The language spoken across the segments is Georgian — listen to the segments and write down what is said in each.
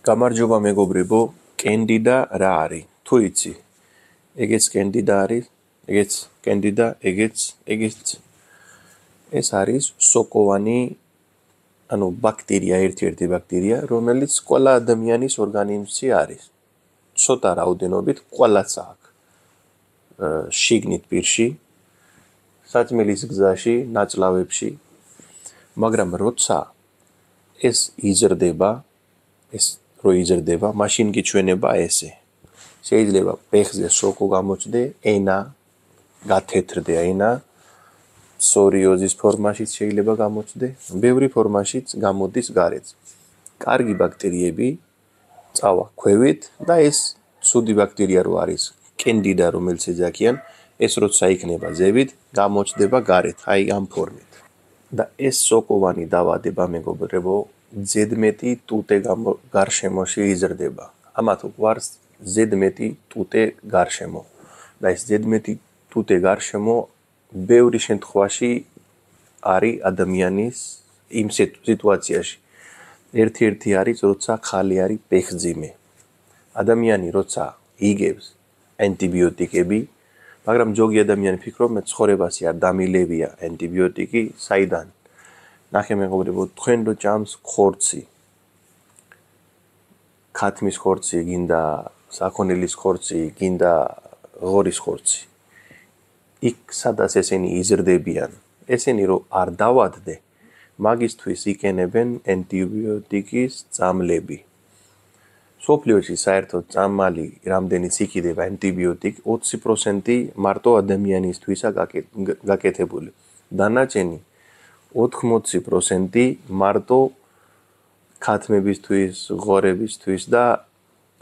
გამარჯობა მეგობრებო, კენდიდა რა არის? თუ იცი, ეგეც კენდიდა არის, ეგეც კენდიდა, ეგეც. ეს არის სოკოვანი, ანუ ბაქტერია, ერთ-ერთი ბაქტერია, რომელიც ყველა ადამიანის ორგანიზმში არის. ცოტა რაოდენობით ყველას აქვს. შიგნით პირში, საჭმელის გზაში, ნაწლავებში, მაგრამ როცა ეს იზრდება, მაშინ გიჩვენება ესე. შეიძლება ფეხზე სოკო გამოჩნდეს, ენა გათეთრდე ენა, პსორიოზის ფორმაშიც შეიძლება გამოჩნდეს, ბევრი ფორმაშიც გამოდის გარეთ. კარგი ბაქტერიები წავა ქვევით და ეს ცუდი ბაქტერია რო არის, კენდიდა რომელიც ეძახიან, ეს როცა იქნება ზევით, გამოჩნდება გარეთ, აი ამ ფორმით. და ეს სოკოვანი დავადება მეგობრებო, ზედმეტი ტუტე გარშემოში იზრდება. ამათ გვარს ზედმეტი ტუტე გარშემო. და ეს ზედმეტი ტუტე გარშემო ბევრი შემთხვევაში არის ადამიანის იმ სიტუაციაში. ერთ-ერთი არის, როცა ხალი არის ფეხძიმე. ადამიანი როცა იგებს ანტიბიოტიკები, მაგრამ ზოგი ადამიანი ფიქრობს, მე ცხოვრებაში არ დამილევია ანტიბიოტიკი, საიდან? ნახე მეგობრებო, თქვენ რო ჭამს ხორცი, ქათმის ხორცი, გინდა საქონელის ხორცი, გინდა ღორის ხორცი. იქ სადაც ესენი იზრდებიან, ესენი რო არ დავადდე, მაგისთვის იყენებენ ანტიბიოტიკის წამლები. სოფლიოში საერთოდ წამალი რამდენიც იქიდება ანტიბიოტიკი, 20% მარტო ადამიანისთვისაა გაკეთებული. დანარჩენი 80% მარტო ქათმებისთვის, ღორებისთვის და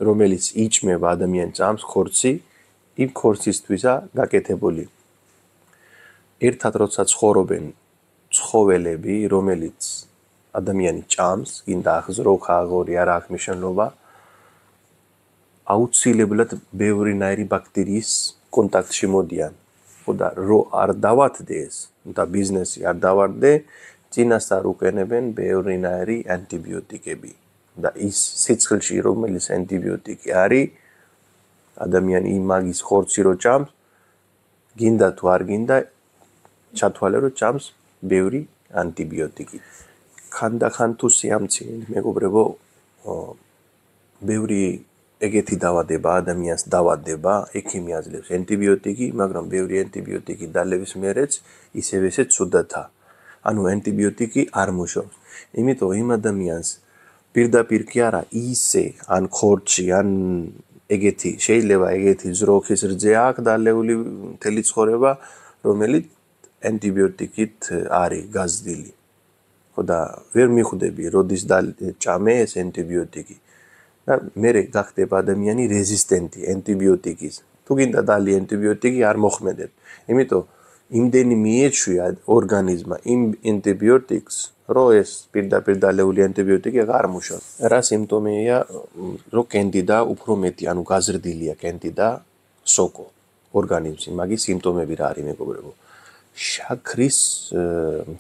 რომელიც იჭმება ადამიანს წამს ხორცი, იმ ხორცისთვისაა გაკეთებული. ერთად როცა ცხოვრობენ ცხოველები, რომელიც ადამიანი ჭამს, გინდა აღზროხა, აღორი, არა აქვს მნიშვნელობა, აუცილებლად ბევრინაირი ბაქტერიის კონტაქტში მოდიან. და რო არ დავადდე ეს და ბიზნესი არ დავადდე, წინასწარ უყენებენ ბევრინაირი ანტიბიოტიკები. და ის სიცხლში რომელიც ანტიბიოტიკი არის, ადამიანი იმაგის ხორცი რო ჭამს, გინდა თუ არ გინდა, ჩათვალე რო ჭამს ბევრი ანტიბიოტიკი. ხანდახან თუ სიამცირე მეგობრებო, ბევრი ეგეთი დავადება ადამიანს დავადება, ექიმი აძლევს ანტიბიოტიკი, მაგრამ ბევრი ანტიბიოტიკი დალევის მერეც ისევ ესე ცუდათა. ანუ ანტიბიოტიკი არ მუშაობს. იმიტომ იმ ადამიანს პირდაპირ კი არა, ისე ან ხორცი, ან ეგეთი შეიძლება ეგეთი ზროხის რძე აქვს დალეული მთელი ცხოვრება, რომელიც ანტიბიოტიკით არის გაზრდილი. და ვერ მიხვდები, როდის ჭამე ეს ანტიბიოტიკი. და მერე გახდება ადამიანი რეზისტენტი ანტიბიოტიკის. თუ გინდა დალი ანტიბიოტიკი არ მოხმედებ. იმიტომ იმდენი მიეჩვია ორგანიზმმა იმ ანტიბიოტიკს, რომ ეს პირდაპირ დალეული ანტიბიოტიკი არ მუშაობს. რა სიმპტომია, რომ კენდიდა უფრო მეტი, ანუ გაზრდილია კენდიდა სოკო ორგანიზმში. მაგის სიმპტომები რა არის მეგობრებო? შაქრის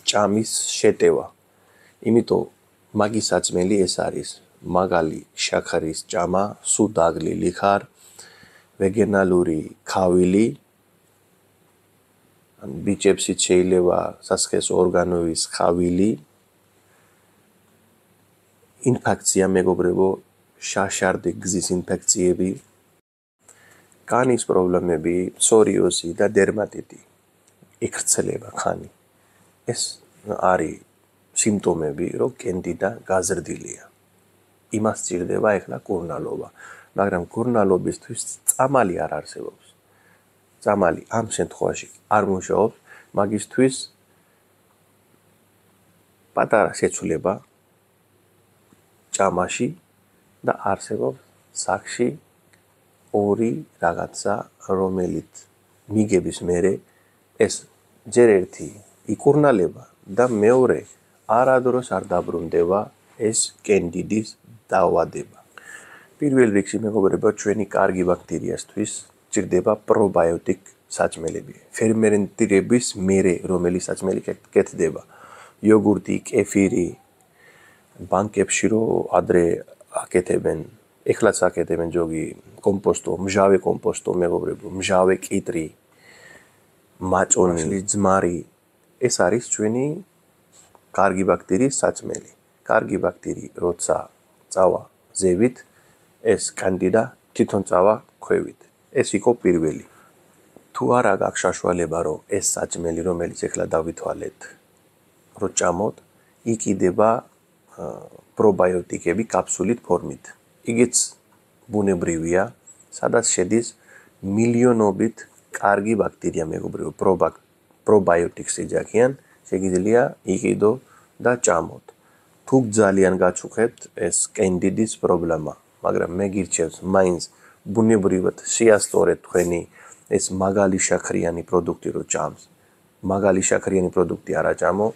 ჭამის შეტევა. იმიტომ მაგის საჭმელი ეს არის. მაგალი შაქრის ჭამა, სულ დაგლილი ხარ, ვეგენალური ქავილი, ან ბიჭებშიც შეიძლება სასქესო ორგანოების ხავილი, ინფექცია მეგობრებო, შაშარდი გზის ინფექციები, კანის პრობლემები, პსორიოზი და დერმატიტი, იქრცლება ხანი. ეს არის სიმპტომები, რომ კენდიდა გაზრდილია. იმას სჭირდება ეხლა კურნალობა, მაგრამ კურნალობისთვის წამალი არ არსებობს. წამალი ამ შემთხვევაში არ მუშაობს, მაგისთვის პატარა შეცვლება ჭამაში და არსებობს სახში ორი რაღაცა, რომელიც მიგების მერე ეს ჯერ ერთი იკურნალება და მეორე არადროს არ დაბრუნდება ეს კენდიდის დავადება. პირველ რიგში მეგობრებო, ჩვენი კარგი ბაქტერიასთვის ჭირდება პრობიოტიკ საჭმელები. ფერმენტირების მერე რომელიც საჭმელი კეთდება. იოგურტი, კეფირი, ბანკებში რო ადრე აკეთებენ, ეხლაც აკეთებენ ჯოგი კომპოსტო, მჟავე კომპოსტო, მეგობრებო, მჟავე კიტრი, მაჭონი, ძმარი, ეს არის ჩვენი კარგი ბაქტერიის საჭმელი. კარგი ბაქტერი როცა წავა ზევით, ეს კანდიდა თვითონ წავა ქვევით. ეს იყო პირველი. თუ არა გაქვს საშუალება, რომ ეს საჭმელი, რომელიც ეხლა დავითვალეთ, რო ჭამოთ, იყიდება პრობიოტიკები კაფსულით ფორმით. იგიც ბუნებრივია, სადაც შედის მილიონობით კარგი ბაქტერია, მეგობრებო, პრობიოტიკს ეძახიან, შეგიძლია იყიდო და ჭამოთ. თუ ძალიან გაჩუქებთ ეს კენდიდის პრობლემა, მაგრამ მე გირჩევთ მაინც ბუნებრივად შეასწორეთ თქვენი ეს მაგალი შაქრიანი პროდუქტი რო ჭამს. მაგალი შაქრიანი პროდუქტი არა ჭამო,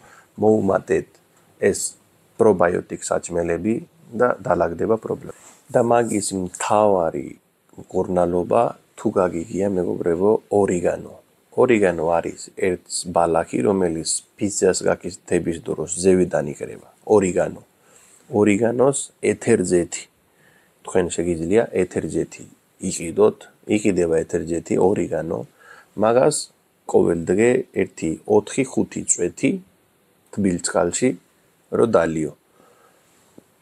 მოუმატეთ ეს პრობიოტიკ საჭმელები და დაალაგდება პრობლემა. და მაგის მთავარი მკურნალობა თუ გაგიგია, მეგობრებო, ორიგანო. ორიგანო არის ერთ ბალახი, რომელიც პიცას გაკეთების დროს ზევიდან იკრება. ორიგანო. ორიგანოს ეთერზეთი. თქვენ შეგიძლია ეთერზეთი იყიდოთ, იყიდება ეთერზეთი, ორიგანო. მაგას ყოველდღე 1-4-5 წვეთი თბილ წყალში რო დალიო.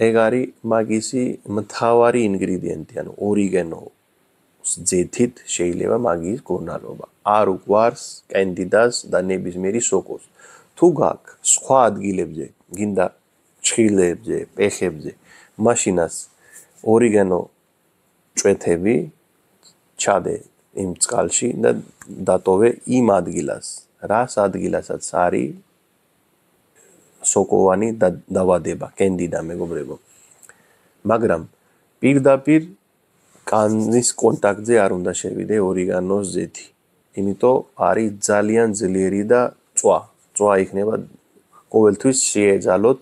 ეგ არის მაგისი მთავარი ინგრედიენტი, ანუ ორიგანოს ძეთით შეიძლება მაგის მკურნალობა. არ უყვარს კენდიდას და ნებისმიერი სოკოს. თუ გაქვს სხვა ადგილებზე, გინდა ჩხილებზე, პეხებზე, მაშინაც ორიგანო წვეთები ჩადე იმ წყალში და დატოვე იმ ადგილას, რას ადგილასაც არის სოკოვანი დავადება, კენდიდა, მეგობრებო. მაგრამ პირდაპირ კანის კონტაქტზე არ უნდა შევიდე ორიგანოს ზეთი. იმიტომ არის ძალიან ძლიერი და წვა იქნება ყოველთვის შეეძალოთ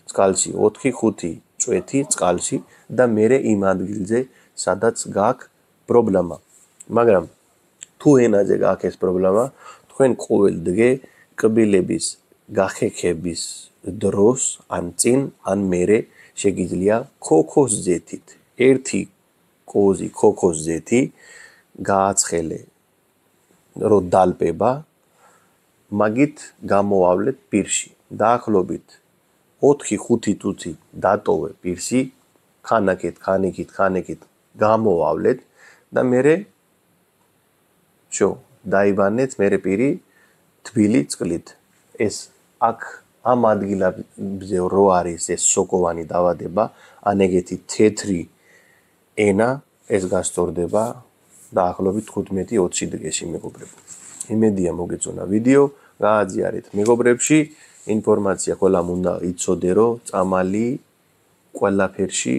წყალში 4-5 წვეთი წყალში და მერე იმ ადგილზე, სადაც გაქვს პრობლემა. მაგრამ თუ ენაზე გაქვს ეს პრობლემა, თქვენ ყოველდღე კბილების გახექების დროს ან წინ, ან მერე შეგიძლია ქოქოს ზეთით, 1 კოზი ქოქოს ზეთი გააცხელე, რო დალპება, მაგით გამოავლეთ პირში. დაახლოებით 4-5 წუთი დატოვე პირში, ხანაკით გამოავლეთ და მერე დაიბანეთ მერე პირი თბილი წყლით. ეს აქ ამ ადგილებზე რო არის ეს სოკოვანი დავადება, ან ეგეთი თეთრი ენა, ეს გასწორდება დაახლოებით 15-20 დღეში, მეგობრებო. იმედია მოგეწონა ვიდეო, გააზიარეთ მეგობრებში, ინფორმაცია ყველამ უნდა იცოდე, რომ წამალი ყველაფერში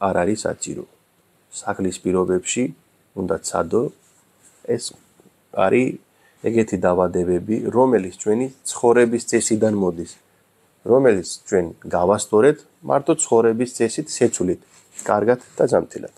არ არის საჭირო. სახლის პირობებში უნდა ცადო, ეს არის ეგეთი დავადებები, რომელიც ჩვენი ცხოვრების წესიდან მოდის, რომელიც ჩვენ გავასწორეთ მარტო ცხოვრების წესით შეცვლით. კარგად და ჯანმრთელად.